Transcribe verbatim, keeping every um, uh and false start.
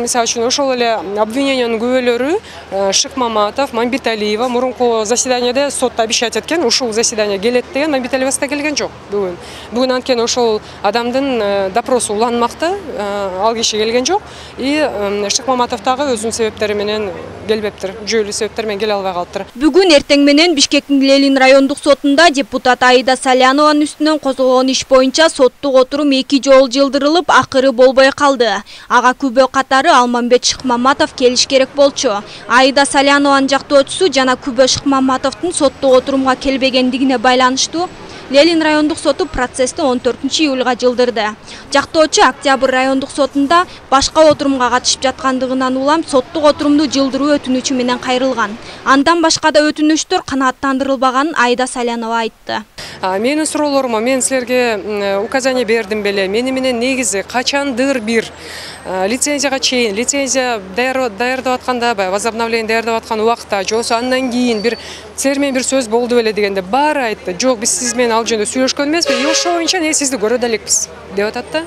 мисалы үчүн ошол эле обвинениянын күбөлөрү Шыкмаматов, Мамбеталиева мурунку заседанияда сотто обещать эткен, ушул заседание келет деген, Мамбеталиева да келген жок бүгүн. Бүгүн анткени ошол адамдын допросу уланмакта, ал киши келген жок. И Шыкмаматов дагы өзүнүн себептери менен келбептир, жүйөлүү себептер менен келе албай калыптыр. Бүгүн эртең менен Бишкектин Ленин райондук сотунда депутат Аида Салянованын үстүнөн козголгон иш боюнча соттук отурум эки жолу жылдырылып, акыры болбой калды. Ага күбө катары Алмамбет Шыкмаматов келиш керек болчу. Аида Салянованын жактоочусу жана күбө Шыкмаматовдун соттук отурумга келбегендигине байланыштуу Ленин райондук соту процессти он төртүнчү июлга жылдырды. Жактоочу Октябрь райондук сотунда башка отурумга катышып жаткандыгынан улам соттук отурумду жылдыруу өтүнүчү менен кайрылган. Андан башка да өтүнүчтөр канааттандырылбаганын Аида Салянова айтты. Менин суроолорума мен силерге указание бердим беле. Мени менен негизи качандыр бир лицензияга чейин, лицензия даярдап атканда, возобновление даярдап аткан убакта, же болбосо андан кийин бир силер менен бир сөз болду беле дегенде баары айтты. Жок, биз сиз менен ал жөнүндө сүйлөшкөн эмеспиз. И ошол боюнча не сизди көрө да элекпиз деп атат да.